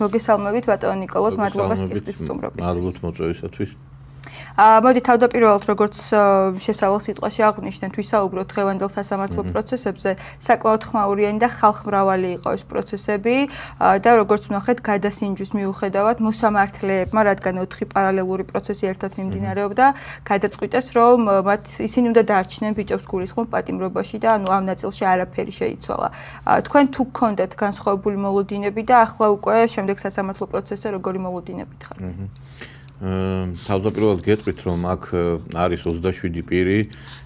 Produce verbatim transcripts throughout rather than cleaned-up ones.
მოგესალმებით ბატონო ნიკოლოზ, მადლობა სტუმრობის სტუმრობისთვის. მადლობთ მოწვევისათვის. მოდი თავდაპირველად როგორც შესავალ სიტყვაში აღვნიშნეთ, ვისაუბროთ დღევანდელ სასამართლო პროცესებზე, საკმაოდ ხმაურიანი და ხალხმრავალი იყო ეს პროცესები და როგორც ვნახეთ, გადასინჯვის მიუხედავად მოსამართლეებმა, რადგან ოთხი პარალელური პროცესი ერთად მიმდინარეობდა, გადაწყვიტეს, რომ მათ ისინი უნდა დაარჩნენ ბიჭებს გულისხმობ პატიმრობაში და ანუ ამ ნაწილში არაფერი შეიცვალა. თქვენ თუ გქონდათ განსხვავებული მოლოდინები და ახლა უკვე შემდეგ სასამართლო პროცესზე როგორი მოლოდინებით ხართ? თავდაპირველად გეტყვით, რომ აქ არის ოცდაშვიდი პირი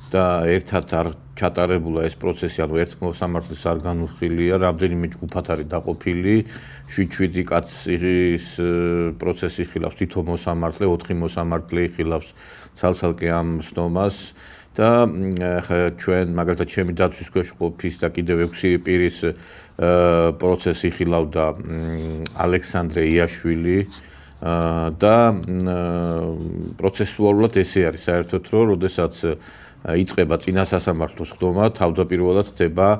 და ერთად არ ჩატარებულა ეს პროცესი, ანუ ერთ მოსამართლეს არ განუხილია, რამდენიმე ჯგუფად არის დაყოფილი, შვიდ-შვიდი კაცის პროცესი იხილავს თითო მოსამართლე, ოთხი მოსამართლე იხილავს ცალ-ცალკე ამ სნომას და ჩვენ მაგალითად ჩემი დაცვის ქვეშ ყოფის და კიდევ ექვსი პირის პროცესი იხილავდა ალექსანდრე იაშვილი და პროცესუალურად ესე არის საერთოდ რომ როდესაც იწყება წინა სასამართლოს ხდომა, თავდაპირველად ხდება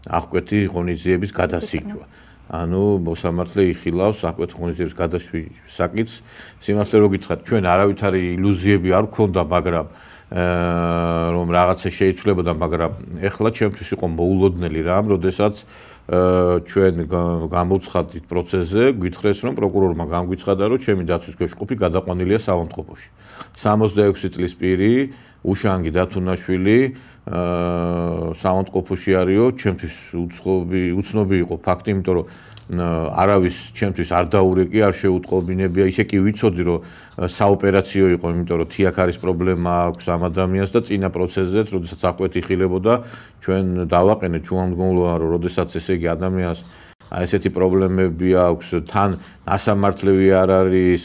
აღკვეთი ღონისძიების გადასინჯვა. ანუ მოსამართლე იხილავს აღკვეთი ღონისძიების გადასინჯვის საკითხს. სიმართლე რო გითხრათ, ჩვენ არავითარი ილუზიები არ გქონდა, მაგრამ რომ რაღაცა შეიცვლებოდა, მაგრამ ეხლა ჩემთვის იყო მოულოდნელი რამ, როდესაც ჩვენ გამოცხადით პროცესზე, გითხრეს რომ პროკურორმა გამგვიცხადა, რომ ჩემი დაცვის ქვეშ ყოფი გადაყვანილია საავადმყოფოში. სამოცდაექვსი წლის პირი, უშანგი დათუნაშვილი საავადმყოფოში არისო, ჩემთვის უცნობი იყო ფაქტი, იმიტომ რომ არავის ჩემთვის არ დაურეკი, არ შეუტყობინებია, ისე კი ვიცოდი, რომ საოპერაციო იყო, იმიტომ რომ თიაქარის პრობლემა აქვს ამ ადამიანს და წინა პროცესზეც, როდესაც აღკვეთი იხილებოდა, ჩვენ დავაყენეთ ჯუამდგომლობა, რომ როდესაც ესე იგი ადამიანს ესეთი პრობლემები აქვს, თან ასამართლევი არ არის,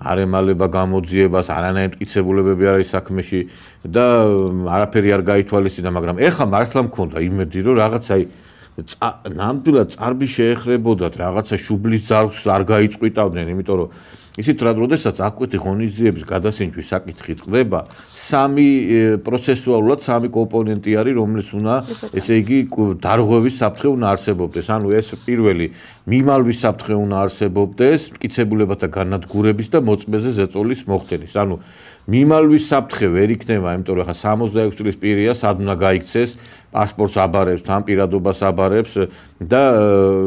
არ ემალება გამოძიებას, არანაირი მტკიცებულებები არ არის საქმეში და არაფერი არ გაითვალისწინა, მაგრამ ეხლა მართლა მქონდა იმედი, რომ რაღაც აი ნამდვილად წარბი შეეხრებოდათ, რაღაცა შუბლის ძარღვს არ გაიწყვიტავდნენ, იმიტომ რომ ისიც როდესაც აღკვეთი ღონისძიების გადასინჯვის საკითხი წყდება, სამი პროცესუალურად სამი კომპონენტი არის, რომელიც უნდა, ესე იგი, დარღვევის საფრთხე უნდა არსებობდეს. ანუ ეს პირველი მიმალვის საფრთხე უნდა არსებობდეს, მტკიცებულებათა განადგურების და მოწმეზე ზეწოლის მოხდენის. ანუ მიმალვის საფრთხე ვერ იქნება, იმიტომ რომ ხა სამოცდაექვსი წლის პირია, სად უნდა გაიქცეს, პასპორტს აბარებს, თან პირადობას აბარებს და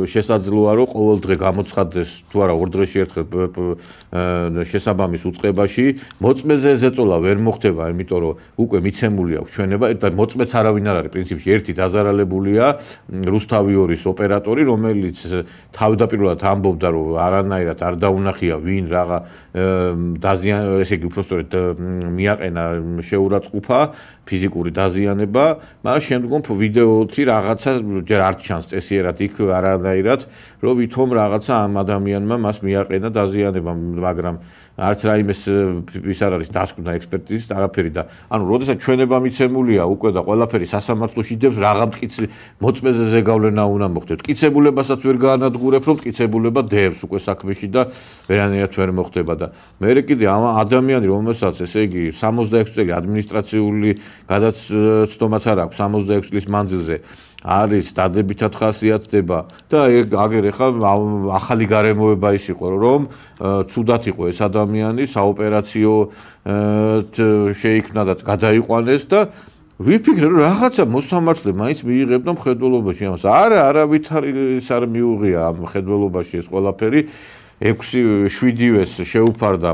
შესაძლოა რომ ყოველ დღე გამოცხადდეს თუ არა ორ დღეში ერთხელ შესაბამის უწყებაში, მოწმეზე ზეწოლა ვერ მოხდება, იმიტომ რომ უკვე მიცემული აქვს ჩვენება და მოწმეც არავინ არ არის, პრინციპში ერთი დაზარალებულია რუსთავი ორის ოპერატორი, რომელიც თავდაპირველად ამბობდა, რომ არანაირად არ დაუნახია ვინ რაღა დაზიან, ესე იგი უბრალოდ მიაყენა შეურაცხყოფა, ფიზიკური დაზიანება, მაგრამ შემდგომ ვიდეოთი რაღაცა ჯერ არ ჩანს წესიერად იქ არანაირად, რომ ვითომ რაღაცა ამ ადამიანმა მას მიაყენა დაზიანება, მაგრამ არც რაიმეს ის არ არის დასკვნა ექსპერტიზის არაფერი და ანუ როდესაც ჩვენება მიცემულია უკვე და ყველაფერი სასამართლოში დევს რაღა მტკიცე მოწმეზე ზეგავლენა უნდა მოხდეს. მტკიცებულებასაც ვერ გაანადგურებ, რომ მტკიცებულება დევს უკვე საქმეში და ვერანაირად ვერ მოხდება და მე კიდე ამ ადამიანი რომელსაც ესე იგი სამოცდაექვსი წელი ადმინისტრაციული გადაცდომაც არ აქვს სამოცდაექვსი წლის მანძილზე არის დადებითად ხასიათდება და აგერ ეხლა ახალი გარემოება ის იყო რომ ცუდად იყო ეს ადამიანი საოპერაციო შეიქმნა და გადაიყვანეს და ვიფიქრე რომ რაღაცა მოსამართლე მაინც მიიღებდა მხედველობაში ამას არა არავითარის არ მიუღია ამ მხედველობაში ეს ყველაფერი ექვსი შვიდივეს შეუფარდა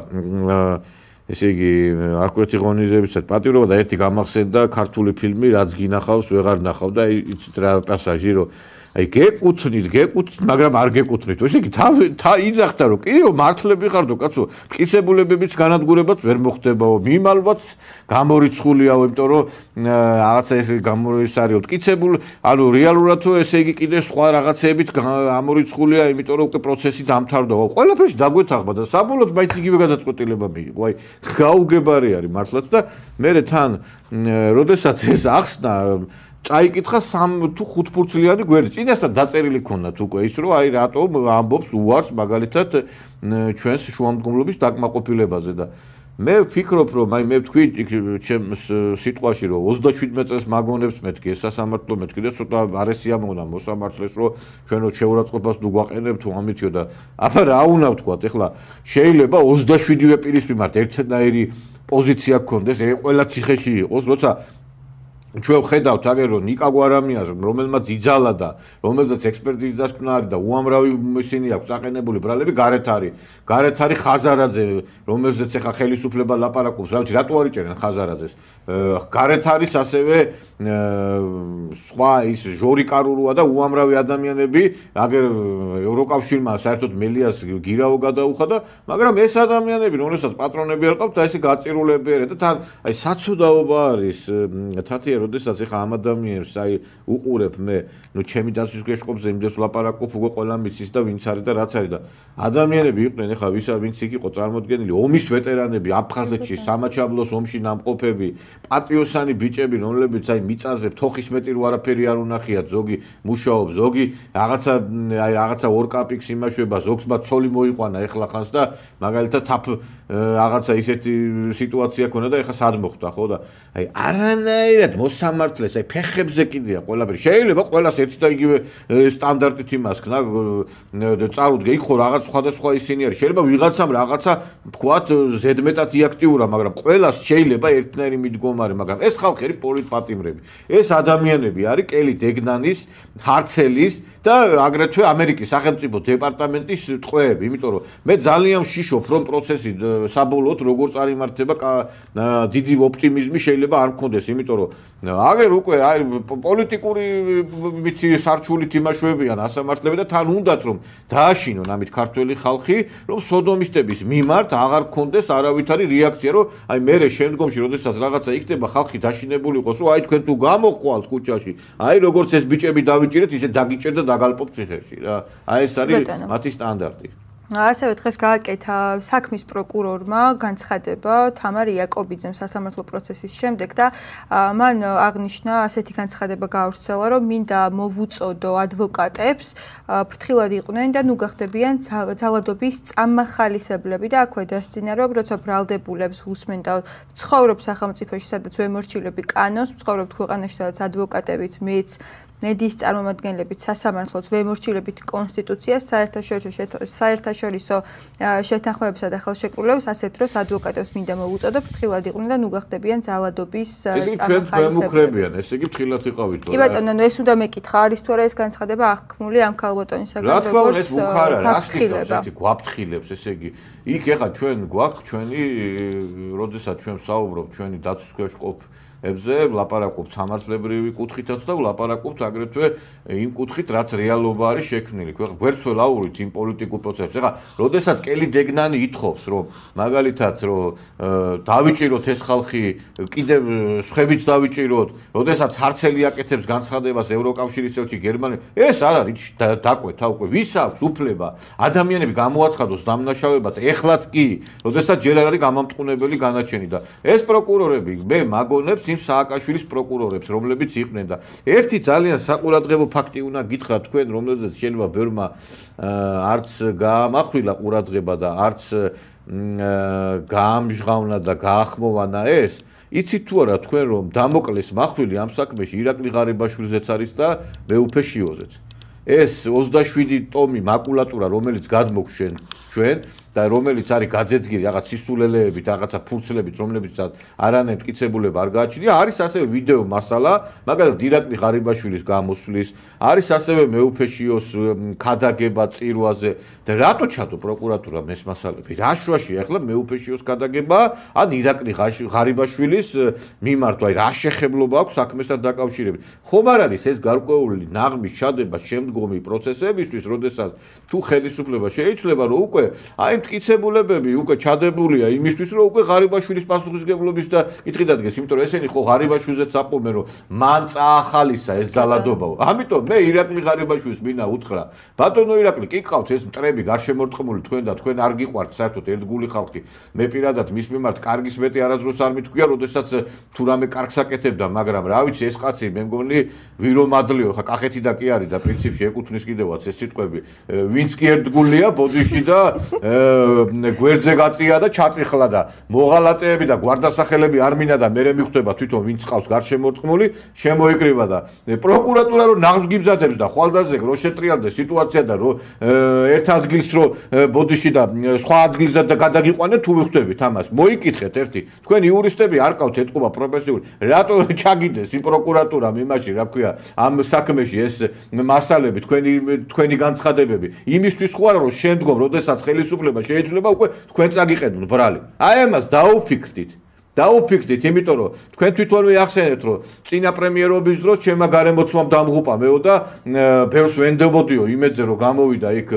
ესე იგი აღკვეთი ღონისძიებისას პატირობა და ერთი გამახსენდა ქართული ფილმი რაც გინახავს ვეღარ ნახავ და იცით რა პასაჟი რომ აი გეკუთვნით გეკუთვნით მაგრამ არ გეკუთვნით ესე იგი თა იძახდა რომ კიდევ მართლები ხარდო კაცო მტკიცებულებებიც განადგურებაც ვერ მოხდებაო მიმალვაც გამორიცხულიაო იმიტომ რომ რაღაცა ეს გამორიცხულია მტკიცებულ ანუ რეალურად თუ ესე იგი კიდევ სხვა რაღაცეებიც გამორიცხულია იმიტომ რომ უკვე პროცესი დამთავრდა ყველაფერში დაგვეთახმა და საბოლოოდ მაინც იგივე გადაწყვეტილება მიიღო აი გაუგებარი არის მართლაც და მე თან როდესაც ეს ახსნა წაიკითხა სამ თუ ხუთფურცლიანი გვერდი. წინასწარ დაწერილი ქონდათ უკვე ის რომ აი რატომ ამბობს უარს მაგალითად ჩვენს შუამდგომლობის დაკმაყოფილებაზე და მე ვფიქრობ, რომ აი მე ვთქვი ჩემს სიტყვაში, რომ ოცდაშვიდმეტ წელს მაგონებს მეთქი ეს სასამართლო მეთქი და ცოტა არესიამოვნა მოსამართლეს, რომ ჩვენო შეურაცხყოფას თუ გვაყენებთ თუ ამითიო და აბა რა უნდა ვთქვათ, ეხლა შეიძლება ოცდაშვიდივე პირის მიმართ ერთნაირი პოზიცია გქონდეს, ეს ყველა ციხეში იყოს, როცა ჩვენ ვხედავთ აგერ რომ ნიკა გვარამიას რომელმაც იძალა და რომელზეც ექსპერტიზის დასკვნა არის და უამრავი ისინი აქვს აყენებული ბრალები გარეთ არის გარეთ არის ხაზარაძე რომელზეც ახლა ხელისუფლება ლაპარაკობს რა ვიცი რატო არ იჭერენ ხაზარაძეს გარეთ არის ასევე სხვა ის ჟორი კარურუა და უამრავი ადამიანები აგერ ევროკავშირმა საერთოდ მელიას გირავო გადაუხა და მაგრამ ეს ადამიანები რომელსაც პატრონები არ ყავთ და ესე გაწირულები არიან და თან აი საცუდაობა არის თათია როდესაც ეხა ამ ადამიანებს აი უყურებ მე ნუ ჩემი დაცვის გეშყობზე იმდენს ლაპარაკობ უკვე ყველა მიცის და ვინც არის და რაც არის და ადამიანები იყვნენ ეხა ვისა ვინც იქ იყო წარმოდგენილი ომის ვეტერანები აფხაზეთში სამაჩაბლოს ომში ნამყოფები პატიოსანი ბიჭები რომლებიც აი მიწაზე თოხის მეტი რო არაფერი არ უნახიათ ზოგი მუშაობს ზოგი რაღაცა აი რაღაცა ორკაპიქს იმაშვება ზოგს მათ ცოლი მოიყვანა ეხლა ხანს და მაგალითად თაფ რაღაცა ისეთი სიტუაცია ქონდა და ეხლა სად მოხდა ხო და აი არანაირად მოსამართლეს აი ფეხებზე კიდეა ყველაფერი შეიძლება ყველას ერთი და იგივე სტანდარტით იმასქნა წარუდგე იქ ხო რაღაც სხვადასხვა ისინი არის შეიძლება ვიღაცამ რაღაცა თქვათ ზედმეტად იაქტიურა მაგრამ ყველას შეიძლება ერთნაირი მიდგომარი მაგრამ ეს ხალხი არის პოლიტპატიმრები ეს ადამიანები არის კელი დეგნანის ჰარცელის და აგრეთვე ამერიკის სახელმწიფო დეპარტამენტის ტყვეები იმიტომ რომ მე ძალიან ვშიშობ რომ პროცესი საბოლოოდ როგორ წარიმართება დიდი ოპტიმიზმი შეიძლება არ მქონდეს იმიტომ რომ აგერ უკვე აი პოლიტიკური მითი სარჩულით იმაშვებიან ასამართლები და თან უნდათ რომ დააშინონ ამით ქართველი ხალხი რომ სოდომისტების მიმართ აღარ მქონდეს არავითარი რეაქცია რომ აი მე შემდგომში როდესაც რაღაცა იქნება ხალხი დაშინებული იყოს რომ აი თქვენ თუ გამოხვალთ ქუჩაში აი როგორც ეს ბიჭები დავიჭირეთ ისე დაგიჭერთ და დაგალპოთ ციხეში რა აი ეს არის მათი სტანდარტი ასევე დღეს გააკეთა საქმის პროკურორმა განცხადება თამარ იაკობიძემ სასამართლო პროცესის შემდეგ და მან აღნიშნა ასეთი განცხადება გაავრცელა რომ მინდა მოვუწოდო ადვოკატებს ფრთხილად იყვნენ და ნუ გახდებიან ძალადობის წამახალისებლები და აქვე დასწინა რომ როცა ბრალდებულებს უსმენ და ცხოვრობს სახელმწიფოში სადაც ვემორჩილები კანონს ცხოვრობთ ქვეყანაში სადაც ადვოკატებიც მეც მედიის წარმომადგენლებიც სასამართლოს ვემორჩილებით კონსტიტუციას საერთაშორისო საერთაშორისო შეთანხმებებსა და ხელშეკრულებებს ასეთ დროს ადვოკატებს მინდა მოვუწოდო ფრთხილად იყვნენ და ნუ გახდებიან ძალადობის წამახალისებლები. ესე იგი ფრთხილად იყავით. კი ბატონო, ეს უნდა მეკითხა არის თუ არა ეს განცხადება აღქმული ამ ქალბატონისაგან როგორც რა თქმა უნდა ეს უხარა რა სწორად ესეთი გვაფრთხილებს ესე იგი იქ ეხა ჩვენ გვაქვს ჩვენი როდესაც ჩვენ საუბრობთ ჩვენი დაცვის ქვეშ ყოფ ებზე ლაპარაკობთ სამართლებრივი კუთხითაც და ლაპარაკობთ აგრეთვე იმ კუთხით რაც რეალობა არის შექმნილი. გვერდს ველაურით იმ პოლიტიკურ პროცესებს. ეხლა როდესაც კელი დეგნანი ითხოვს რომ მაგალითად რომ დავიჭიროთ ეს ხალხი კიდევ სხვებიც დავიჭიროთ, როდესაც ჰარცელი აკეთებს განცხადებას ევროკავშირის ელჩი გერმანია, ეს არ არის დაკვეთა უკვე ვის აქვს უფლება ადამიანები გამოაცხადოს დამნაშავებად ეხლაც კი, როდესაც ჯერ არ არის გამამტყუნებელი განაჩენი და ეს პროკურორები მე მაგონებს იმ სააკაშვილის პროკურორებს, რომლებიც იყვნენ და ერთი ძალიან საყურადღებო ფაქტი უნდა გითხრათ თქვენ, რომელზეც შეიძლება ბევრმა არც გაამახვილა ყურადღება და არც გაამჟღავნა და გაახმოვანა ეს. იცით თუ არა თქვენ რომ დამოკლეს მახვილი ამ საქმეში ირაკლი ღარიბაშვილზეც არის და მეუფე შიოზეც. ეს ოცდაშვიდი ტომი მაკულატურა, რომელიც გადმოგჩენ ჩვენ და რომელიც არის გაძეძგირი რაღაც სისულელეებით, რაღაცა ფურცლებით, რომლებიცაც არანაირ მტკიცებულება არ გააჩნია, არის ასევე ვიდეო მასალა, მაგალითად ირაკლი ღარიბაშვილის გამოსვლის, არის ასევე მეუფეშიოს ქადაგება წირვაზე და რატო ჩადო პროკურატურამ ეს მასალები? რა შვაშია ახლა მეუფეშიოს ქადაგება, ან ირაკლი ღარიბაშვილის მიმართ, აი რა შეხებლობა აქვს საქმესთან დაკავშირებით? ხომ არ არის ეს გარკვეული ნაღმის ჩადება შემდგომი პროცესებისთვის, როდესაც თუ ხელისუფლება შეიძლება რომ უკვე აი მტკიცებულებები უკვე ჩადებულია იმისთვის რომ უკვე ღარიბაშვილის პასუხისგებლობის და კითხი დადგეს, იმიტომ რომ ესენი ხო ღარიბაშვილზეც აპომენ რომ მან წაახალისა ეს ძალადობაო. ამიტომ მე ირაკლი ღარიბაშვილს მინდა უთხრა, ბატონო ირაკლი, კი ყავთ ეს მტრები გარშემორტყმული თქვენ და თქვენ არ გიყვართ საერთოდ ერთგული ხალხი. მე პირადად მის მიმართ კარგის მეტი არასდროს არ მithქვია, როდესაც თუ რამე კარგს აკეთებდა, მაგრამ რა ვიცი ეს კაცი მე მგონი ვირომადლიო, ხა კახეთი და კი არის და პრინციპში ეკუთვნის კიდევაც ეს სიტყვები, ვინც კი ერთგულია ბოდიში და გვერდზე გაწია და ჩაწიხლა და მოღალატეები და გვარდასახელები არ მინა და მერე მიხვდება თვითონ ვინც ყავს გარშემორტყმული, შემოიკრიბა და პროკურატურა რო ნაღმს გიბზადებს და ხვალდაზე რო შეტრიალდეს სიტუაცია და რო ერთ ადგილს რო ბოდიში და სხვა ადგილზე და გადაგიყვანეთ თუ ვიხვდებით ამას. მოიკითხეთ ერთი, თქვენ იურისტები არ ყავთ ეთყობა პროფესიული, რატო ჩაგიდეს იმ პროკურატურამ იმაში, რა ქვია, ამ საქმეში ეს მასალები, თქვენი თქვენი განცხადებები, იმისთვის ხო არა რომ შემდგომ, როდესაც ხელისუფლება შეიძლება უკვე თქვენ წაგიყენოთ ბრალი. აი ამას დაუფიქრდით. დაუფიქრდით, იმიტომ რომ თქვენ თვითონვე ახსენეთ, რომ წინა პრემიერობის დროს ჩემმა გარემოცვამ დამღუპა მეო და ბევრს ვენდებოდიო იმედზე რომ გამოვიდა იქ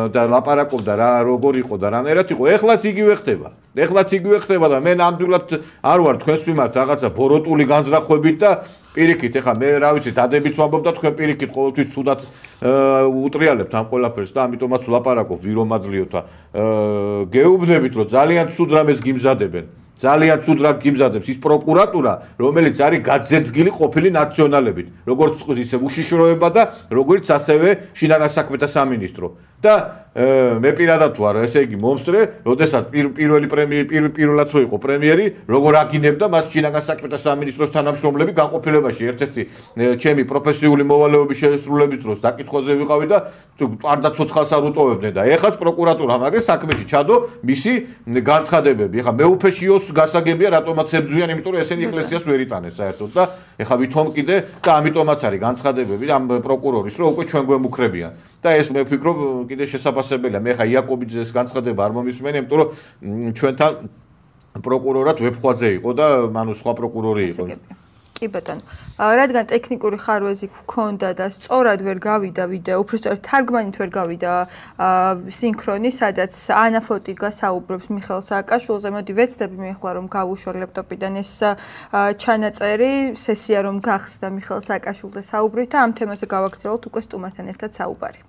და ლაპარაკობდა რა როგორ იყო და რანაირად იყო. ეხლაც იგივე ხდება. ეხლაც იგივე ხდება და მე ნამდვილად არ ვარ თქვენს მიმართ რაღაცა ბოროტული განზრახვებით და პირიქით, ეხლა მე რა ვიცი, დადებიც ვამბობ და თქვენ პირიქით ყოველთვის ცუდად უტრიალებთ ამ ყველაფერს და ამიტომაც ვლაპარაკობ ვირომადლიოთ და გეუბნებით, რომ ძალიან ცუდ რამეს გიმზადებენ. ძალიან ცუდ რა გიმზადებს ის პროკურატურა, რომელიც არის გაძეძგილი ყოფილი ნაციონალებით, როგორც ისე უშიშროება და როგორც ასევე შინაგან საქმეთა სამინისტრო. და მე პირადად ვარ, ესე იგი მომსწრე, როდესაც პირველი პრემიერი პირველად რო იყო პრემიერი, როგორ აგინებდა მას შინაგან საქმეთა სამინისტროს თანამშრომლები განყოფილებაში, ერთ-ერთი ჩემი პროფესიული მოვალეობის შესრულების დროს დაკითხვაზე ვიყავი და პარდა ცოცხალს არ უტოვებდნენ და ეხაც პროკურატურა მაგას საქმეში ჩადო მისი განცხადებები. ეხა მეუფეშიოს გასაგებია რატომაც ებზვიან, იმიტომ რომ ესენი ეკლესიას ვერ იტანეს საერთოდ და ეხა ვითომ კიდე და ამიტომაც არის განცხადებები ამ პროკურორის, რომ უკვე ჩვენ გვემუქრებიან. და ეს მე ვფიქრობ კიდე შესაძლებელია. მე ხა იაკობიძეს განცხადება არ მომისმენია, იმიტომ რომ ჩვენთან პროკურორად ვეფხვაძე იყო და მანუ სხვა პროკურორი იყო. კი ბატონო. რადგან ტექნიკური ხარვეზი გქონდა და სწორად ვერ გავიდა ვიდეო, უბრალოდ თარგმანით ვერ გავიდა სინქრონი, სადაც ანა ფოტიკა საუბრობს მიხეილ სააკაშვილზე. მოდი ვეცდები მე ახლა რომ გავუშვა ლეპტოპიდან ეს ჩანაწერი, სესია რომ გახსდა მიხეილ სააკაშვილზე საუბრით და ამ თემაზე გავაგრძელოთ უკვე სტუმართან ერთად საუბარი.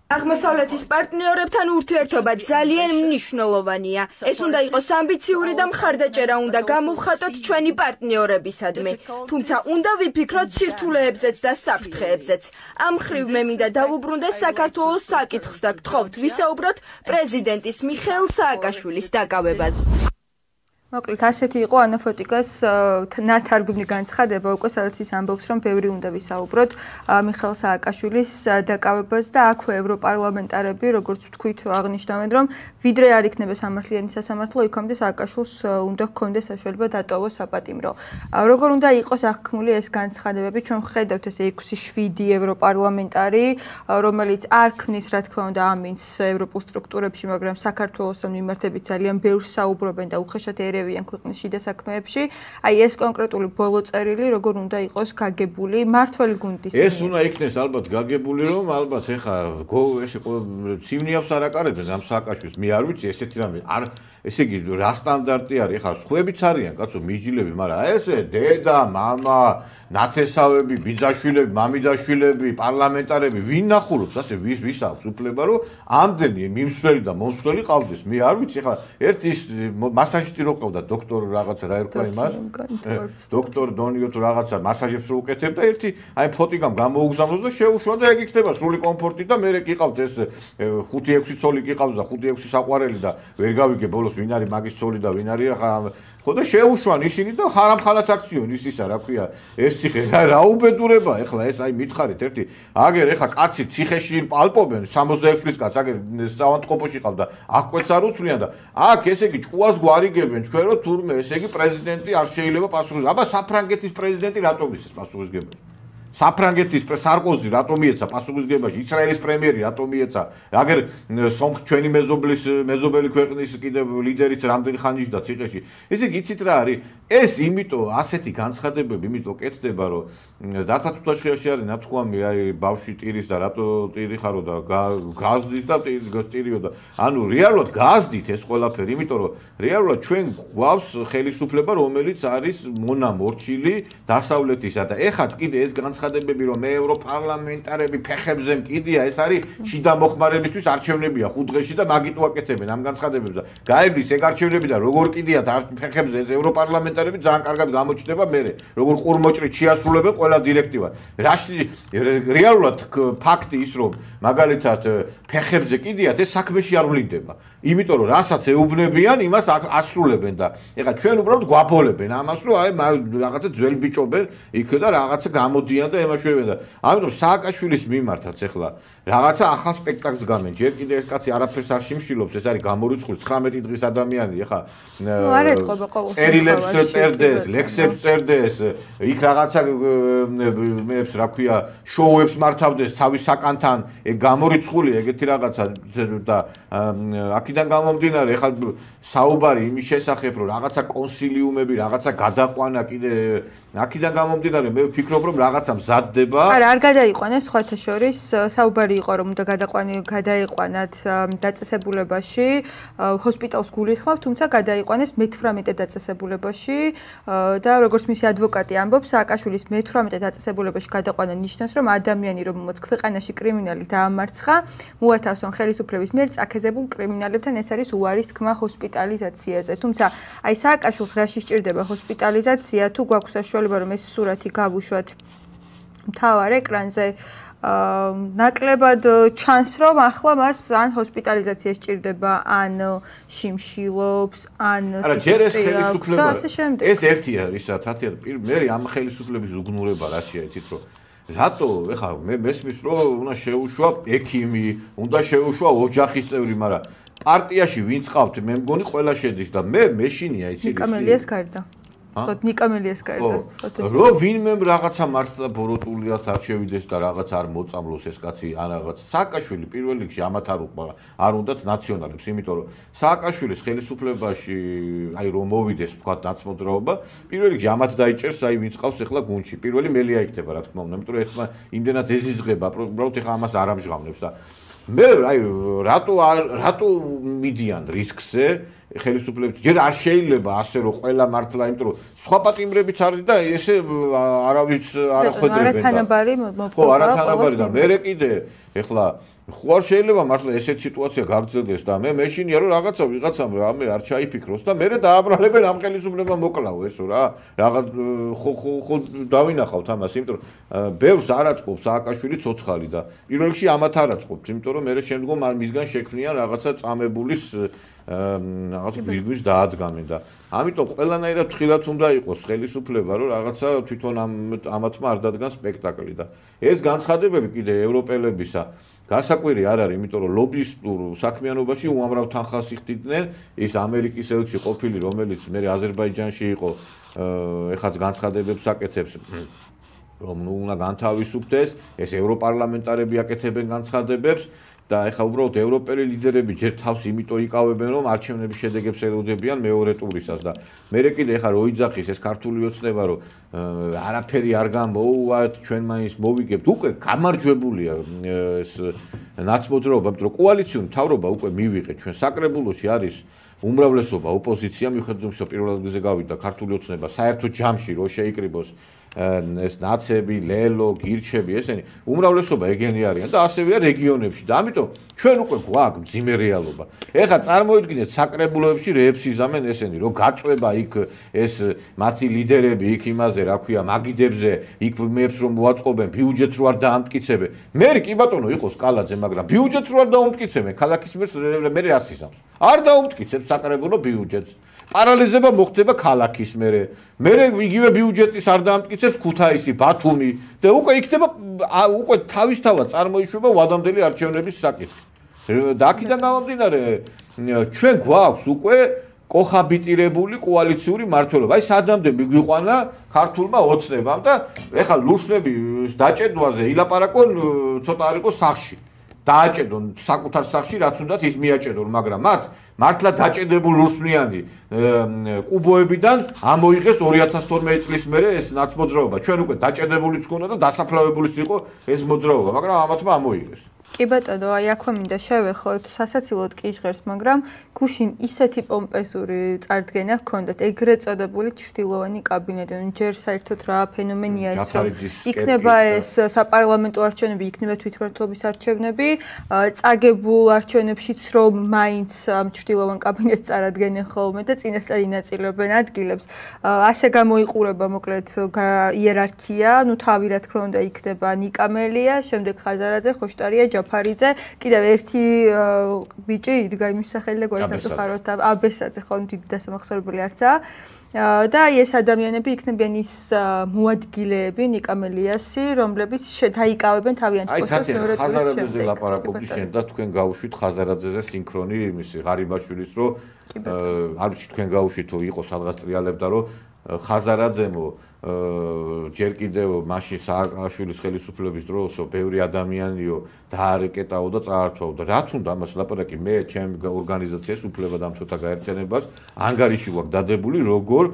აღმოსავლეთის პარტნიორებთან ურთიერთობა ძალიან მნიშვნელოვანია. ეს უნდა იყოს ამბიციური და მხარდაჭერა უნდა გამოვხატოთ ჩვენი პარტნიორებისადმი. თუმცა უნდა ვიფიქროთ სირთულეებზეც და საფრთხეებზეც. ამ მხრივ მე მინდა დავუბრუნდე საქართველოს საკითხს და გთხოვთ ვისაუბროთ პრეზიდენტის მიხეილ სააკაშვილის დაკავებაზე. მოკლედ ასეთი იყო ანა ფოტიკას ნათარგმნი განცხადება, უკვე სადაც ის ამბობს, რომ ბევრი უნდა ვისაუბროთ მიხეილ სააკაშვილის დაკავებაზე და აქვე ევროპარლამენტარები, როგორც ვთქვით, აღნიშნავენ, რომ ვიდრე არ იქნება სამართლიანი სასამართლო, იქამდე სააკაშვილს უნდა ჰქონდეს საშუალება დატოვოს საპატიმრო. როგორ უნდა იყოს აღქმული ეს განცხადებები? ჩვენ ვხედავთ ეს ექვსი შვიდი ევროპარლამენტარი, რომელიც არ ქმნის, რა თქმა უნდა, ამინს ევროპულ სტრუქტურებში, მაგრამ საქართველოსთან მიმართებით ძალიან ბევრს საუბრობენ და უხეშად ერევიან ქვეყნის შიდა საქმეებში. აი ეს კონკრეტული ბოლო წერილი როგორ უნდა იყოს გაგებული მართველი გუნდის? ეს უნდა იქნეს ალბათ გაგებული, რომ ალბათ ეხა ეს იყო ცივნიავს არ აკარებენ ამ სააკაშვილს. მე არ ვიცი ესეთი რამე არ ესე იგი რა სტანდარტი არის? ეხა სხვაებიც არიან, კაცო, მიჯილები, მაგრამ ესე დედა, მამა, ნათესავები, ბიძაშვილები, მამიდაშვილები, პარლამენტარები, ვინ ნახულობს, ასე ვის ვის აქვს უფლება, რომ ამდენი მიმსვლელი და მომსვლელი ყავდეს. მე არ ვიცი, ეხა ერთი მასაჟისტი რო ყავდა, დოქტორ რაღაცა რა ერქვა იმას? დოქტორ დონიო თუ რაღაცა მასაჟებს რო უკეთებდა, ერთი აი ფოტიკამ გამოუგზავნოს და შეუშვა და ეგ იქნება სრული კომფორტი და მე კი ყავთ ეს ხუთი ექვსი ცოლი კი ყავს და ხუთი ექვსი საყვარელი და ვერ გავიგე ბოლოს ვინ არის მაგის ცოლი და ვინ არის ახლა ხო და შეუშვან ისინი და ხარამხალათ აქციონი ის ისა რა ქვია ეს ციხე რა უბედურება ეხლა ეს აი მითხარით ერთი აგერ ეხლა კაცი ციხეში პალპობენ სამოცდაექვსი წლის კაცს აგერ საავადმყოფოში ყავდა აღკვეც არ უცვლიან და აქ ესე იგი ჭკუას გვარიგებენ ჩვენ რომ თურმე ესე იგი პრეზიდენტი არ შეიძლება პასუხისმგებელი აბა საფრანგეთის პრეზიდენტი რატომ ის პასუხისმგებელი საფრანგეთის სარკოზი რატომ მიეცა პასუხისმგებაში ისრაელის პრემიერი რატომ მიეცა აგერ სომხ ჩვენი მეზობლის მეზობელი ქვეყნის კიდევ ლიდერიც რამდენი ხანიში და ციხეში ესე იგი იცით რა არის ეს იმიტომ ასეთი განცხადებები იმიტომ კეთდება რომ დათა თუთაშხიაში არის ნათქვამი აი ბავშვი ტირის და რატო ტირი ხარო და გაზდის და ტირიო და ანუ რეალურად გაზდით ეს ყველაფერი იმიტომ რომ რეალურად ჩვენ გვაქვს ხელისუფლება რომელიც არის მონამორჩილი დასავლეთისა და ეხაც კიდე ეს განცხადება განცხადებები, რომ მე ევროპარლამენტარები ფეხებზე მკიდია, ეს არის შიდა მოხმარებისთვის არჩევნებია ხუთ დღეში და მაგით უაკეთებენ ამ განცხადებებს და გაივლის ეგ არჩევნები და როგორ კიდიათ ფეხებზე ეს ევროპარლამენტარები ძალიან კარგად გამოჩნდება მე, როგორ ყურმოჭრით შეასრულებენ ყველა დირექტივას. რაში რეალურად ფაქტი ის რომ მაგალითად ფეხებზე კიდიათ ეს საქმეში არ ვლინდება. იმიტომ რომ რასაც ეუბნებიან, იმას ასრულებენ და ეხლა ჩვენ უბრალოდ გვაბოლებენ ამას, რომ აი რაღაცა ძველი ბიჭობენ იქ და რაღაცა გამოდიან და ემაშვებენ და ამიტომ სააკაშვილის მიმართაც ეხლა რაღაცა ახალ სპექტაკლს გამენ. ჯერ კიდე ეს კაცი არაფერს არ შიმშილობს, ეს არის გამორიცხული ცხრამეტი დღის ადამიანი, ეხლა წერილებს წერდეს, ლექსებს წერდეს, იქ რაღაცა მეებს რა ქვია, შოუებს მართავდეს თავის საკანთან, ეგ გამორიცხული ეგეთი რაღაცა და აქედან გამომდინარე ეხლა საუბარი იმის შესახებ, რომ რაღაცა კონსილიუმები, რაღაცა გადაყვანა კიდე აქედან გამომდინარე მე ვფიქრობ, რომ რაღაცა მზადდება. არა, არ გადაიყვანეს სხვათა შორის, საუბარი იყო რომ უნდა გადაყვანი გადაიყვანათ დაწესებულებაში, ჰოსპიტალს გულისხმობ, თუმცა გადაიყვანეს მეთვრამეტე დაწესებულებაში და როგორც მისი ადვოკატი ამბობს, სააკაშვილის მეთვრამეტე დაწესებულებაში გადაყვანა ნიშნავს, რომ ადამიანი რომელმაც ქვეყანაში კრიმინალი დაამარცხა, მოათავსონ ხელისუფლების მიერ წაქეზებულ კრიმინალებთან ეს არის უარის თქმა ჰოსპიტალიზაციაზე. თუმცა აი სააკაშვილს რაში სჭირდება ჰოსპიტალიზაცია, თუ გვაქვს საშუალება რომ ეს სურათი გავუშვათ მთავარ ეკრანზე, ნაკლებად ჩანს რომ ახლა მას ან ჰოსპიტალიზაცია სჭირდება, ან შიმშილობს, ან სისხლდეაქვს. ეს ერთია, ისა თათია, მე ამ ხელისუფლების უგნურება რაშია, იცით რომ რატო ეხლა მე მესმის რომ უნდა შეუშვა ექიმი, უნდა შეუშვა ოჯახის წევრი, მაგრამ პარტიაში ვინც ყავთ, მე მგონი ყველა შედის და მე მეშინია იცით. ნიკამელიას გარდა. ხოთ ნიკამელიას გარდა. რო ვინმე რაღაცა მართლა ბოროტულიას არ შევიდეს და რაღაც არ მოწამლოს ეს კაცი ან რაღაც სააკაშვილი პირველ რიგში ამათ არ უყვა არ უნდათ ნაციონალებს, იმიტომ რომ სააკაშვილის ხელისუფლებაში აი რომ მოვიდეს თქვა ნაცმოძრაობა, პირველ რიგში ამათ დაიჭერს აი ვინც ყავს ახლა გუნდში. პირველი მელია იქნება რა თქმა უნდა, იმიტომ რომ ერთმა იმდენად ეზიზღება, უბრალოდ ახლა ამას არ ამჟღავნებს და მე აი რატო რატო მიდიან რისკზე ხელისუფლების ჯერ არ შეიძლება ასე რომ ყველა მართლა, იმიტომ რომ სხვა პატიმრებიც არის და ესე არავის არ ხვედრებენ. არათანაბარი მოპყრობა. ხო, არათანაბარი და მე კიდე ეხლა ხო არ შეიძლება მართლა ესეთ სიტუაცია გაგრძელდეს და მე მეშინია რომ რაღაცა ვიღაცამ რამე არ ჩაიფიქროს და მე დააბრალებენ ამ ხელისუფლებამ მოკლავ ესო რა. რაღაც ხო ხო ხო დავინახავთ ამას, იმიტომ რომ ბევრს არ აწყობს სააკაშვილი ცოცხალი და პირველ რიგში ამათ არ აწყობს, იმიტომ რომ მე შემდგომ მისგან შექმნიან რაღაცა წამებულის რაღაცა გვირგვის დაადგამენ და ამიტომ ყველანაირად თხილად უნდა იყოს ხელისუფლება რომ რაღაცა თვითონ ამ ამათმა არ დადგან სპექტაკლი და ეს განცხადებები კიდე ევროპელებისა გასაკვირი არ არის, იმიტომ რომ ლობისტურ საქმიანობაში უამრავ თანხას იხდიდნენ ის ამერიკის ელჩი ყოფილი, რომელიც მე აზერბაიჯანში იყო, ეხაც განცხადებებს აკეთებს რომ ნუ უნდა განთავისუფლდეს, ეს ევროპარლამენტარები აკეთებენ განცხადებებს და ეხლა უბრალოდ ევროპელი ლიდერები ჯერ თავს იმიტომ იკავებენ რომ არჩევნების შედეგებს ელოდებიან მეორე ტურისას და მე კიდე ეხლა რო იძახის ეს ქართული ოცნება რომ არაფერი არ გამოუვათ ჩვენ მაინც მოვიგებთ უკვე გამარჯვებულია ეს ნაცმოძრაობა, იმიტომ რომ კოალიციური მთავრობა უკვე მივიღეთ ჩვენ საკრებულოში არის უმრავლესობა ოპოზიცია მიუხედავად რომ პირველად გზაზე გავიდა ქართული ოცნება საერთო ჯამში რო შეიკრიბოს ეს ნაცები, ლელო, გირჩები, ესენი უმრავლესობა ეგენი არიან და ასევეა რეგიონებში და ამიტომ ჩვენ უკვე გვაქვს მძიმე რეალობა. ეხლა წარმოიდგინეთ საკრებულოებში რეებს იზამენ ესენი, რომ გაწვება იქ ეს მათი ლიდერები იქ იმაზე, რა ქვია, მაგიდებზე, იქ მეებს რომ მოაწყობენ, ბიუჯეტს რო არ დაამტკიცებენ. მე კი ბატონო იყო სკალაძე, მაგრამ ბიუჯეტს რო არ დაამტკიცებენ, ქალაქის მერს მე რას იზამს? არ დაამტკიცებს საკრებულო ბიუჯეტს. პარალიზება მოხდება ქალაქის მერე. მერე იგივე ბიუჯეტის არ დაამტკიცებს ქუთაისი, ბათუმი და უკვე იქნება უკვე თავისთავად წარმოიშვება ვადამდელი არჩევნების საკითხი. და აქედან გამომდინარე ჩვენ გვაქვს უკვე კოხაბიტირებული კოალიციური მმართველობა. აი სადამდე მიგვიყვანა ქართულმა ოცნებამ და ეხლა ლურსნების დაჭედვაზე ილაპარაკონ ცოტა არ იყოს სახში. დააჭედონ საკუთარ სახში რაც უნდათ ის მიაჭედონ, მაგრამ მათ მართლა დაჭედებულ ლურსნიანი კუბოებიდან ამოიღეს ორი ათას თორმეტი წლის მერე ეს ნაცმოძრაობა. ჩვენ უკვე დაჭედებულიც ქონდა და დასაფლავებულიც იყო ეს მოძრაობა, მაგრამ ამათმა ამოიღეს. კი ბატონო, აი აქვე მინდა შევეხოთ, სასაცილოდ კი ჟღერს, მაგრამ გუშინ ისეთი პომპეზური წარდგენა ჰქონდათ, ეგრეთ წოდებული ჩრდილოვანი კაბინეტი, ნუ ჯერ საერთოდ რა ფენომენია ეს, რომ იქნება ეს საპარლამენტო არჩევნები, იქნება თვითმმართველობის არჩევნები, წაგებულ არჩევნებშიც რომ მაინც ჩრდილოვან კაბინეტს წარადგენენ ხოლმე და წინასწარ ინაწილებენ ადგილებს. ასე გამოიყურება მოკლედ იერარქია, ნუ თავი რა თქმა უნდა იქნება ნიკამელია, შემდეგ ხაზარაძე, ხოშტარია, ჯაფარიძე, კიდევ ერთი ბიჭი იდგა იმის სახელი და გვერდსახაროთ აბესაძე, ხო, დიდი დასამახსოვრებელი არცა. და აი ეს ადამიანები იქნებიან ის მოადგილეები ნიკამელიასი, რომლებიც დაიკავებენ თავიანთ პოსტებს მეორე ტურის შემდეგ. აი, ხაზარაძეზე ლაპარაკობდი შენ და თქვენ გაუშვით ხაზარაძეზე სინქრონი იმისი ღარიბაშვილის, რომ არ ვიცი თქვენ გაუშვით თუ იყო სადღაც ტრიალებდა, რომ ხაზარაძემო ჯერ კიდევ მაშინ სააკაშვილის ხელისუფლების დროსო ბევრი ადამიანიო დაარეკეტაო და წაართვაო და რა თუნდა ამას ლაპარაკი მე ჩემ ორგანიზაციას უფლება დამცველთა გაერთიანებას ანგარიში გვაქვს დადებული როგორ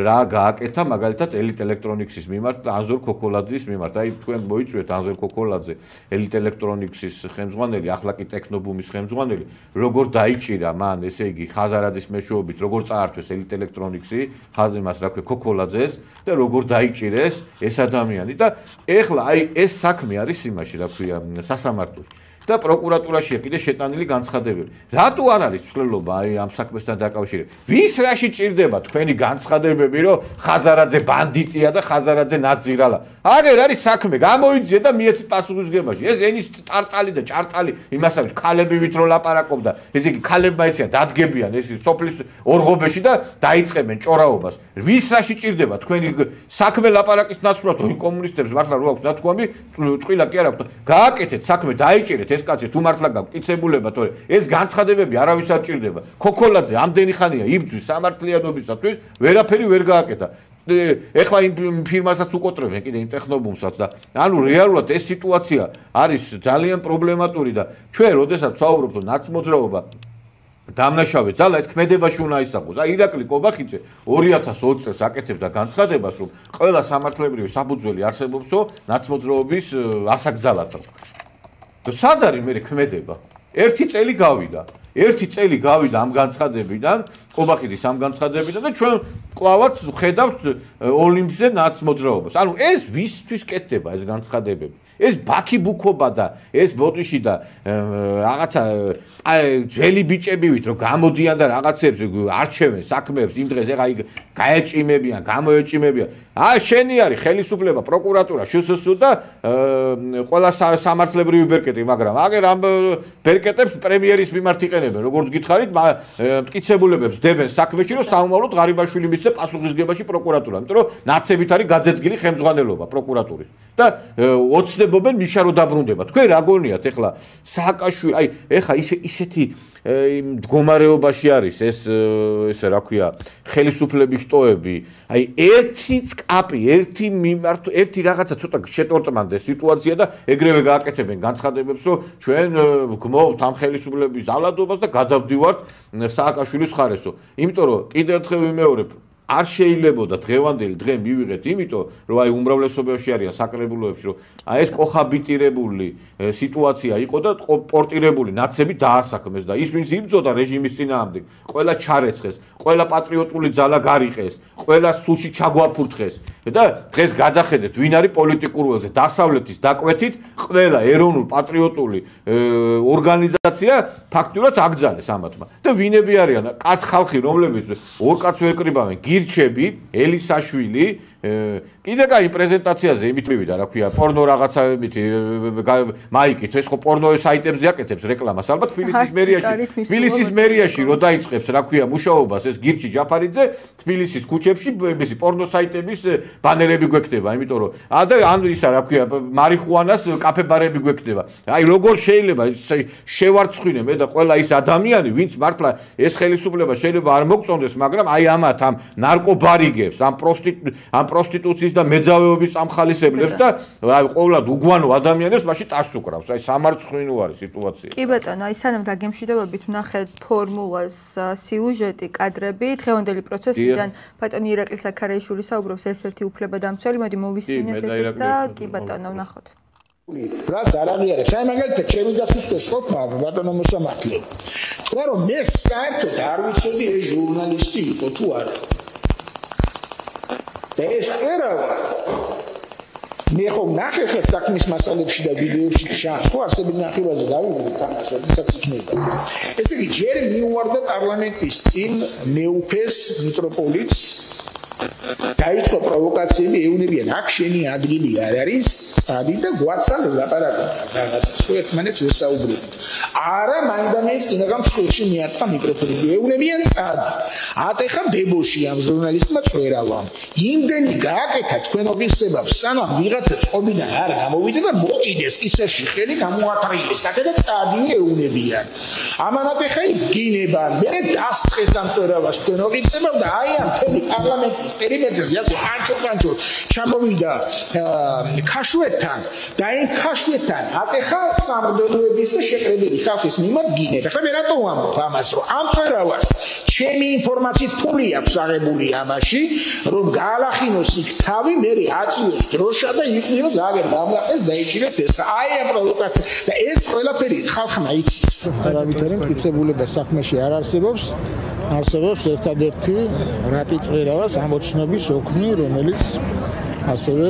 რა გააკეთა მაგალითად ელიტ ელექტრონიქსის მიმართ ანზორ ქოქოლაძის მიმართ აი თქვენ მოიწვიეთ ანზორ ქოქოლაძე ელიტ ელექტრონიქსის ხელმძღვანელი ახლა კი ტექნობუმის ხელმძღვანელი როგორ დაიჭირა მან ესე იგი ხაზარაძის მეშვეობით როგორ წაართვეს ელიტ ელექტრონიქსი ხაზიმას რა ქვია ქოქოლაძეს და როგორ დაიჭირეს ეს ადამიანი და ეხლა აი ეს საქმე არის იმაში რა ქვია სასამართლოში და პროკურატურაშია კიდე შეტანილი განცხადებები. რატო არ არის ცვლილობა აი ამ საქმესთან დაკავშირებით? ვის რაში ჭირდება თქვენი განცხადებები, რომ ხაზარაძე ბანდიტია და ხაზარაძე ნაძირალა? აგერ არის საქმე, გამოიძიე და მიეცი პასუხისგებაში. ეს ენის ტარტალი და ჭარტალი იმასავით ქალები ვით რო ლაპარაკობდა, ესე იგი ქალებმა ეციან დადგებიან ეს სოფლის ორღობეში და დაიწყებენ ჭორაობას. ვის რაში ჭირდება თქვენი საქმე ლაპარაკის ნაცვლად თუ კომუნისტებს მართლა რო აქვს ნათქვამი, ტყილა კი არ აქვს. გააკეთეთ საქმე, დაიჭირეთ ეს კაცი თუ მართლა გაკიცებულება თორე ეს განცხადებები არავის არ ჭირდება. ქოქოლაძე ამდენი ხანია იბრძვის სამართლიანობისათვის, ვერაფერი ვერ გააკეთა. ეხლა იმ ფირმასაც უკოტრებენ კიდე იმ ტექნობუმსაც და ანუ რეალურად ეს სიტუაცია არის ძალიან პრობლემატური და ჩვენ როდესაც ვსაუბრობთ რომ ნაცმოძრაობა დამნაშავე ძალა ეს ქმედებაში უნდა ისახოს. აი ირაკლი კობახიძე ორი ათას ოცი წელს აკეთებდა განცხადებას რომ ყველა სამართლებრივი საფუძველი არსებობსო ნაცმოძრაობის ასაკძალად. და სად არის მე ქმედება? ერთი წელი გავიდა. ერთი წელი გავიდა ამ განცხადებიდან, კობახიძის ამ განცხადებიდან და ჩვენ კლავაც ხედავთ ოლიმპზე ნაცმოძრაობას. ანუ ეს ვისთვის კეთდება ეს განცხადებები? ეს ბაქი ბუქობა და ეს ბოტიში და რაღაცა ძველი ბიჭებივით რომ გამოდიან და რაღაცებს არჩევენ საქმეებს იმ დღეს ეხა გაეჭიმებიან, გამოეჭიმებიან. აა შენი არის ხელისუფლება, პროკურატურა, შსს და ყველა სამართლებრივი ბერკეტი, მაგრამ აგერ ამ ბერკეტებს პრემიერის მიმართ იყენებენ, როგორც გითხარით, მტკიცებულებებს დებენ საქმეში, რომ საომავლოდ ღარიბაშვილი მისცე პასუხისგებაში პროკურატურამ, იმიტომ რომ ნაცებით არის გაძეძგილი ხელმძღვანელობა პროკურატურის. და ოცნებობენ მიშა რო დაბრუნდება. თქვენ რა გონიათ ეხლა სააკაშვილი, აი ეხლა ისე ისეთი იმ მდგომარეობაში არის ეს ესე რა ქვია ხელისუფლების შტოები, აი ერთი წკაპი, ერთი მიმართ, ერთი რაღაცა ცოტა შეტორტმანდეს სიტუაცია და ეგრევე გააკეთებენ განცხადებებს, რომ ჩვენ გმოვთ ამ ხელისუფლების ზალადობას და გადავდივართ სააკაშვილის ხარესო. იმიტომ რომ კიდევ ერთხელ ვიმეორებ არ შეიძლებოდა დღევანდელი დღე მივიღეთ, იმიტომ რომ აი უმრავლესობაში არიან საკრებულოებში, რომ აი ეს კოხაბიტირებული სიტუაცია იყო და პორტირებული ნაცები დაასაქმეს და ის ვინც იბრძოდა რეჟიმის წინააღმდეგ, ყველა ჩარეცხეს, ყველა პატრიოტული ძალა გარიყეს, ყველა სუში ჩაგვაფურთხეს და დღეს გადახედეთ ვინ არის პოლიტიკურ ველზე დასავლეთის დაკვეთით ყველა ეროვნულ პატრიოტული ორგანიზაცია ფაქტურად აკრძალეს ამათმა და ვინები არიან კაც ხალხი რომლებიც ორ კაც ვერ კრიბავენ გირჩები ელისაშვილი კიდე კაი პრეზენტაციაზე იმით მივიდა რა ქვია პორნო რაღაცა იმით მაიკით ეს ხო პორნო საიტებზე აკეთებს რეკლამას ალბათ თბილისის მერიაში თბილისის მერიაში რო დაიწყებს რა ქვია მუშაობას ეს გირჩი ჯაფარიძე თბილისის ქუჩებში ისი პორნო საიტების ბანერები გვექნება იმიტომ რომ და ან ისა რა ქვია მარიხუანას კაფე-ბარები გვექნება აი როგორ შეიძლება შევარცხვინე მე და ყველა ის ადამიანი ვინც მართლა ეს ხელისუფლება შეიძლება არ მოგწონდეს მაგრამ აი ამათ ამ ნარკობარიგებს ამ პროსტიტ ამ პროსტიტუციის და მეძავეობის ამხალისებლებს და აი ყოვლად უგვანო ადამიანებს მაშინ ტას უკრავს აი სამარცხვინო არის სიტუაცია კი ბატონო აი სანამ დაგემშვიდობებით ვნახეთ ფორმულას სიუჟეტი კადრები დღევანდელი პროცესიდან ბატონი ირაკლი საქარაიშვილი საუბრობს ერთ-ერთი უფლებადამცველი მოდი მოვისმინოთ ესეც და კი ბატონო ვნახოთ რას არ აღიარებს? აი მაგალითად ჩემი დაცვის შტოქმა ბატონო მოსამართლე. თქვა რომ მე საერთოდ არ ვიცოდი ეს ჟურნალისტი იყო თუ არა. და ეს წერავა მე ხომ ნახე ხე საქმის მასალებში და ვიდეოებში ჩანს, ხო არსებითი ნახევარზე გავიგე თამაში, როდესაც იქნება. ესე იგი ჯერ მიუვარდა პარლამენტის წინ მეუფეს მიტროპოლიტს დაიწყო პროვოკაციები, ეუბნებიან აქ შენი ადგილი არ არის, წადი და გვაცალ ლაპარაკობ რაღაცა, ხო ერთმანეთს ვესაუბრებთ. არა, მაინდამაინც კიდევ მსხვილში მიატყა მიკროფონი. ეუბნებიან წადი. ატეხა დებოში ამ ჟურნალისტმა წვერავა. იმდენი გააკეთა თქვენ ოფისებავს, სანამ ვიღაცებს ყობიდან არ გამოვიდა და მოკიდეს კისერში ხელი გამოათრიეს. აკეთა წადი ეუბნებიან. ამან ატეხა იგინება, მე დასწეს ამ წვერავას თქვენ ოფისებავ და აი ამ მთელი პარლამენტის პერიმეტრზე ასე ანჩო-კანჩო ჩამოვიდა ქაშვეთთან და იმ ქაშვეთთან ატეხა სამრდელოების და შეკრებილი ხალხის მიმართ გინება. ხა მე რატო ვამბობ ამას, რომ ამ წვერავას ჩემი ინფორმაციით ფული აქვს აღებული ამაში, რომ გაალახინოს იქ თავი, მე აწიოს დროშა და იყვიოს აგერ გამლაყეს და იქნებ ეს აი ამ პროვოკაცია და ეს ყველაფერი ხალხმა იცის. არავითარი მტკიცებულება საქმეში არ არსებობს. არსებობს ერთადერთი რატი წვერავას ამოცნობის ოქმი, რომელიც ასევე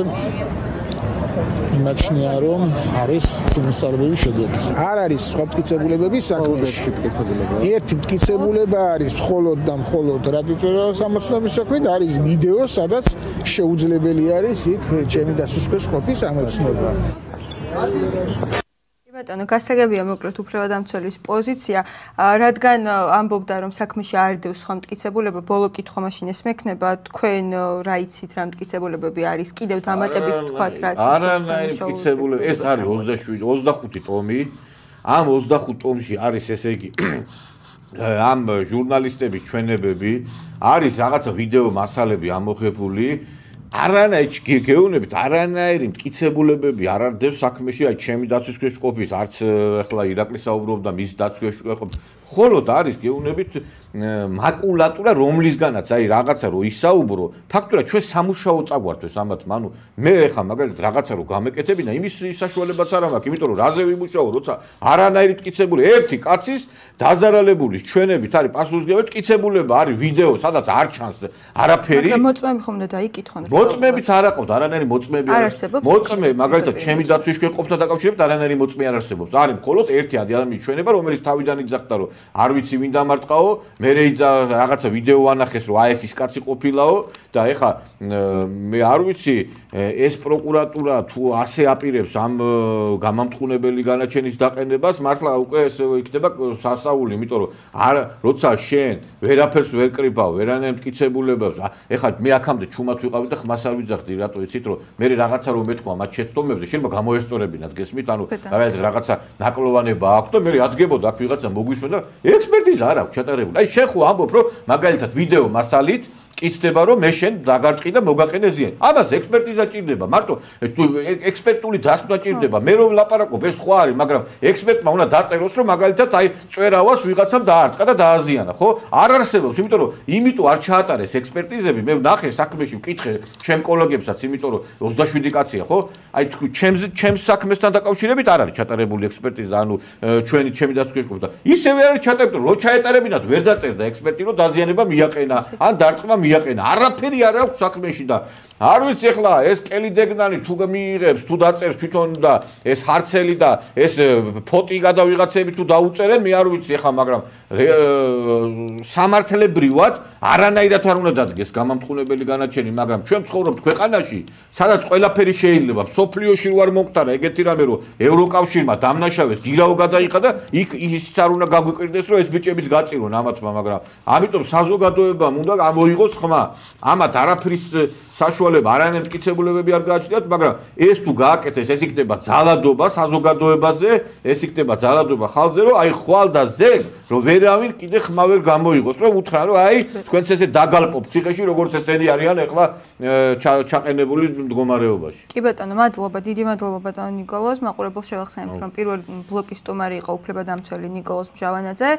იმაჩნია, რომ არის წინასწარმეტყველების შედეგი. არ არის სხვა მტკიცებულებების საქმეში. ერთი მტკიცებულება არის მხოლოდ და მხოლოდ რატი წვერავას ამოცნობის საქმე და არის ვიდეო, სადაც შეუძლებელი არის იქ ჩემი დაცვის ქვეშ ყოფის ამოცნობა. ბატონო, გასაგებია მოკლედ უფლებადამცველის პოზიცია, რადგან ამბობდა რომ საქმეში არ დევს სხვა მტკიცებულება, ბოლო კითხვა მაშინ ეს მექნება, თქვენ რა იცით რა მტკიცებულებები არის, კიდევ დამატებით თქვათ რა. არანაირი მტკიცებულება, ეს არის ოცდაშვიდი ოცდახუთი ტომი. ამ ოცდახუთ ტომში არის ესე იგი ამ ჟურნალისტების ჩვენებები, არის რაღაცა ვიდეო მასალები ამოღებული. არანაირი გეუბნებით, არანაირი მტკიცებულებები არ არდევს საქმეში, აი ჩემი დაცვის ქვეშ ყოფის, არც ახლა ირაკლი საუბრობდა მის დაცვის ქვეშ ყოფის. ხოლოდ არის გეუბნებით მაკულატურა, რომლისგანაც აი რაღაცა რო ისაუბრო, ფაქტურად ჩვენ სამუშაო წაგვართვეს ამათ, ანუ მე ეხა მაგალითად რაღაცა რო გამეკეთებინა, იმის საშუალებაც არ მაქვს, იმიტომ რომ რაზე ვიმუშაო, როცა არანაირი მტკიცებული ერთი კაცის დაზარალებული ჩვენებით არის პასუხისმგებელი მტკიცებულება, არის ვიდეო, სადაც არ ჩანს არაფერი. მაგრამ მოწმეები ხომ უნდა დაიკითხონ? მოწმეებიც არ აყავთ, არანაირი მოწმეები არ არსებობს. მოწმე, მაგალითად, ჩემი დაცვის ქვეშ ყოფთან დაკავშირებით არანაირი მოწმე არ არსებობს. არის მხოლოდ ერთი ადამიანის ჩვენება, რომელიც თავიდან იძახდა, რომ არ ვიცი ვინ დამარტყაო, მე რეიძა რაღაცა ვიდეო ანახეს, რომ აი ეს ის კაცი ყოფილაო და ეხა მე არ ვიცი ეს პროკურატურა თუ ასე აპირებს ამ გამამტყუნებელი განაჩენის დაყენებას, მართლა უკვე ეს იქნება სასაული, იმიტომ რომ არ როცა შენ ვერაფერს ვერ კრიბავ, ვერანაირ მტკიცებულებებს, ეხა მე აქამდე ჩუმად ვიყავი და ხმას არ ვიძახდი, რატო იცით, რომ მე რაღაცა რომ მეთქვა მათ შეცდომებზე, შეიძლება გამოესწორებინათ, გესმით, ანუ რაღაცა ნაკლოვანება აქვს და მე ადგებოდა აქ ვიღაცა მოგვისმენ და ექსპერტიზა არ აქვს ჩატარებული. აი შენ ხო ამბობ, რომ მაგალითად ვიდეო მასალით კიცდება რომ მე შენ დაგარტყი და მოგაყენე ზიან. ამას ექსპერტიზა ჭირდება, მარტო ექსპერტული დასკვნა ჭირდება. მე რომ ლაპარაკობ, ეს სხვა არის, მაგრამ ექსპერტმა უნდა დაწეროს, რომ მაგალითად აი წვერავას ვიღაცამ დაარტყა და დააზიანა, ხო? არ არსებობს, იმიტომ რომ იმიტომ არ ჩაატარეს ექსპერტიზები, მე ვნახე საქმეში ვკითხე ჩემ კოლეგებსაც, იმიტომ რომ ოცდაშვიდი კაცია, ხო? აი თქვი ჩემს ჩემს საქმესთან დაკავშირებით არ არის ჩატარებული ექსპერტიზა, ანუ ჩვენი ჩემი დაცვის ყოფდა. ისევე არ არის ჩატარებული, რომ ჩაეტარებინათ, ვერ დაწერდა ექსპერტი, რომ დაზიანება მიაყენა, ან დარტყმა მიაყენა. არაფერი არ აქვს საქმეში და არ ვიცი ახლა ეს კელი დეგნანი თუ მიიღებს, თუ დაწერს თვითონ და ეს ჰარცელი და ეს ფოტი გადავიღაცები თუ დაუწერენ, მე არ ვიცი ახლა, მაგრამ სამართლებრივად არანაირად არ უნდა დადგეს გამამტყუნებელი განაჩენი, მაგრამ ჩვენ ვცხოვრობთ ქვეყანაში, სადაც ყველაფერი შეიძლება. სოფლიოში რო არ მომختარა ეგეთი რამე, რომ ევროკავშირმა დამნაშავეს, გირაო გადაიხადა და იქ ისიც არ უნდა გაგვიკვირდეს, რომ ეს ბიჭებიც გაწირონ ამათმა, მაგრამ ამიტომ საზოგადოებამ უნდა გამოიღოს ხმა. ამათ არაფრის საშუალება, არანაირი მტკიცებულებები არ გააჩნიათ, მაგრამ ეს თუ გააკეთეს, ეს იქნება ძალადობა საზოგადოებაზე, ეს იქნება ძალადობა ხალხზე, რომ აი ხვალ და ზეგ, რომ ვერავინ კიდე ხმა ვერ გამოიღოს, რომ უთხრან, რომ აი თქვენც ესე დაგალპობ ციხეში, როგორც ესენი არიან ახლა ჩაყენებული მდგომარეობაში. კი ბატონო, მადლობა, დიდი მადლობა ბატონო ნიკოლოზ, მაყურებელს შევახსენებთ, რომ პირველ ბლოკის სტუმარი იყო უფლებადამცველი ნიკოლოზ მჟავანაძე.